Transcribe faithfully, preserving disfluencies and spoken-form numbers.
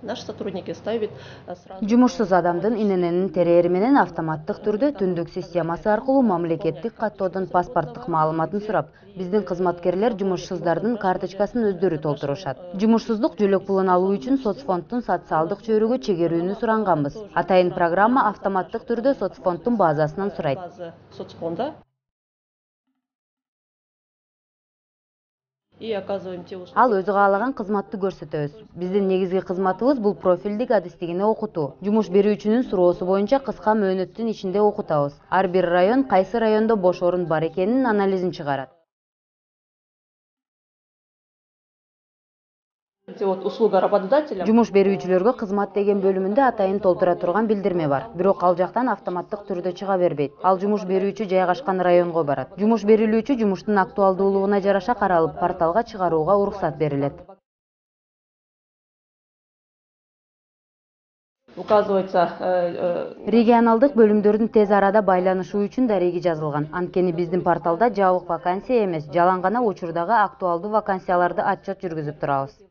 Наши сотрудники ставят сразу. Жумушсуз адамдын ИННнин терээри менен автоматтык түрдө түндүк системасы аркылуу мамлекеттик каттоодон паспорттук маалыматын сурап, биздин кызматкерлер жумушсуздардын карточкасын өздөрү толтурушат. Жумушсуздук жөлөк пулун алуу үчүн соцфонддун социалдык чөйрөгө чегерүүнү суранганбыз. Атайын программа автоматтык түрдө соцфонддун базасынан сурайт. Соцфонда. Ал өзү каалаган кызматты көрсөтөбүз. Биздин негизги кызматыбыз бул профилдик адистигини окутуу. Жумуш берүүчүнүн суроосу боюнча кыска мөөнөттүн ичинде окутабыз. Ар бир район кайсы райондо бош орун бар экенин анализин чыгарат. Услуга работодателя. Жумуш берүүчүлөргө кызмат деген бөлүмүндө атайын толтура турган билдирме бар. Бирок ал жактан автоматтык түрдө чыга бербейт. Ал жумуш берүүчү жайгашкан районго барат. Жумуш берилүүчү жумуштун актуалдуулугуна жараша каралып, порталга чыгарууга уруксат берилет. Указывается. Регионалдык бөлүмдөрдүн тез арада байланышуу үчүн дареги жазылган. Анткени биздин порталда жабык вакансия эмес, жалаң гана учурдагы актуалдуу вакансияларды отчет жүргүзүп турабыз.